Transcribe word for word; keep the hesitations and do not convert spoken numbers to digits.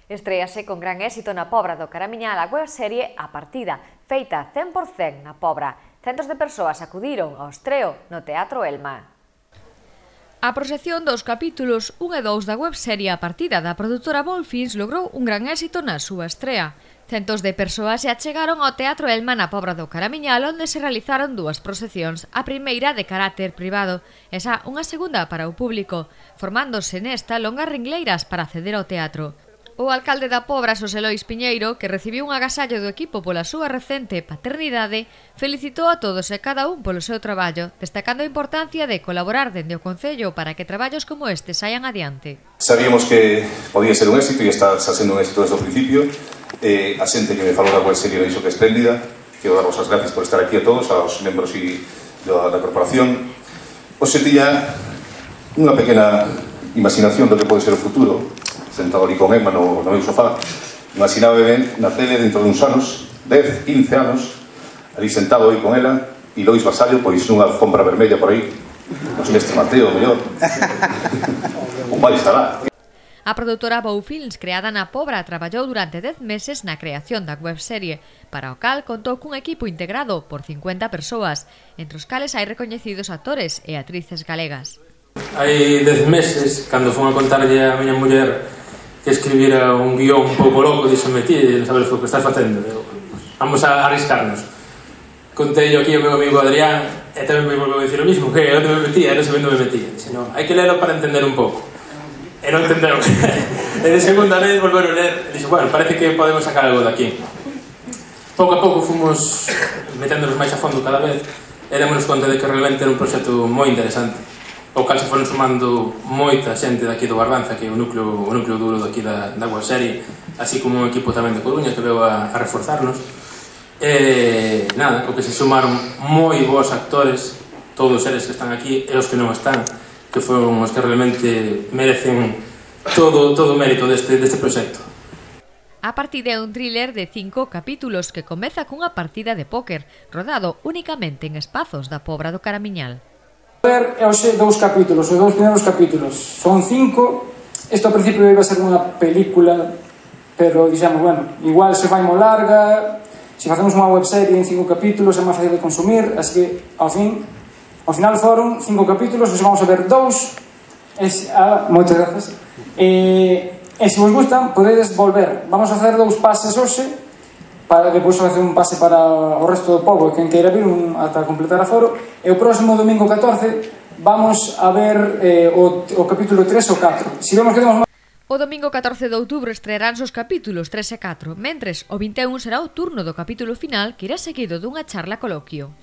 Estréase con gran éxito na Pobra do Caramiñal a webserie A Partida, feita cen por cen na Pobra. Centos de persoas acudiron ao estreo no Teatro Elma. A proxección dos capítulos un e dous da webserie A Partida da produtora Bolfins logrou un gran éxito na súa estrea. Centos de persoas se achegaron ao Teatro Elma na Pobra do Caramiñal, onde se realizaron dúas proxeccións, a primeira de carácter privado, e xa unha segunda para o público, formándose nesta longas ringleiras para acceder ao teatro. O alcalde da Pobra, Xosé Lois Piñeiro, que recibiu un agasallo do equipo pola súa recente paternidade, felicitou a todos e cada un polo seu traballo, destacando a importancia de colaborar dende o Concello para que traballos como este saian adiante. Sabíamos que podía ser un éxito e está sendo un éxito desde o principio. Eh, a xente que me falou da webserie me dixo que é espléndida. Quero daros as gracias por estar aquí a todos, aos membros e da, da corporación. Oxe tiña unha pequena imaginación do que pode ser o futuro, sentado ali con Emma no, no meu sofá. Imaginaba ben na tele dentro de uns anos, dez, quince anos, ali sentado aí con ela, e Lois Vasallo, pois nunha alfombra vermella por aí, nos Mestre Mateo, mellor. O mal estará. A produtora Bolfins, creada na Pobra, traballou durante dez meses na creación da webserie, para o cal contou cun equipo integrado por cincuenta persoas, entre os cales hai recoñecidos actores e actrices galegas. Hai dez meses, cando fun a contarlle a miña muller que escribira un guión un pouco loco, díxome, ti, non sabes o que estás facendo, vamos a arriscarnos. Contei aquí ao meu amigo Adrián, e tamén me volveu a dicir o mismo, que onde me metía, e non sabendo me metía. Dixe, non, hai que lelo para entender un pouco. E non entendeu. E de segunda vez volveron a ler, e dixo, bueno, parece que podemos sacar algo daqui. Pouco a pouco fomos meténdonos máis a fondo cada vez, e démonos conta de que realmente era un proxecto moi interesante. O cal se foron sumando moita xente daqui do Barbanza, que é o núcleo, o núcleo duro daqui da, da webserie, así como un equipo tamén de Coruña que veu a, a reforzarnos. E nada, o que se sumaron moi bons actores, todos eles que están aquí e os que non están, que foron os que realmente merecen todo, todo o mérito deste, deste proxecto. A Partida é un thriller de cinco capítulos que comeza cunha partida de póker, rodado únicamente en espazos da Pobra do Caramiñal. Ver, é hoxe dous capítulos, os dous primeiros capítulos son cinco. Isto ao principio iba a ser unha película, pero dixemos, bueno, igual se fai mo larga, se facemos unha webserie en cinco capítulos é máis fácil de consumir, así que ao fin ao final foron cinco capítulos, hoxe vamos a ver dous. Es, ah, moitas grazas. E, e se vos gustan, podedes volver. Vamos a facer dous pases hoxe, para depois facer un pase para o resto do pobo, quen queira vir un, ata completar a foro, e o próximo domingo catorce vamos a ver eh, o, o capítulo tres ou catro. Si vemos que temos máis... O domingo catorce de outubro estrearánse os capítulos tres e catro, mentres o vinte e un será o turno do capítulo final, que irá seguido dunha charla coloquio.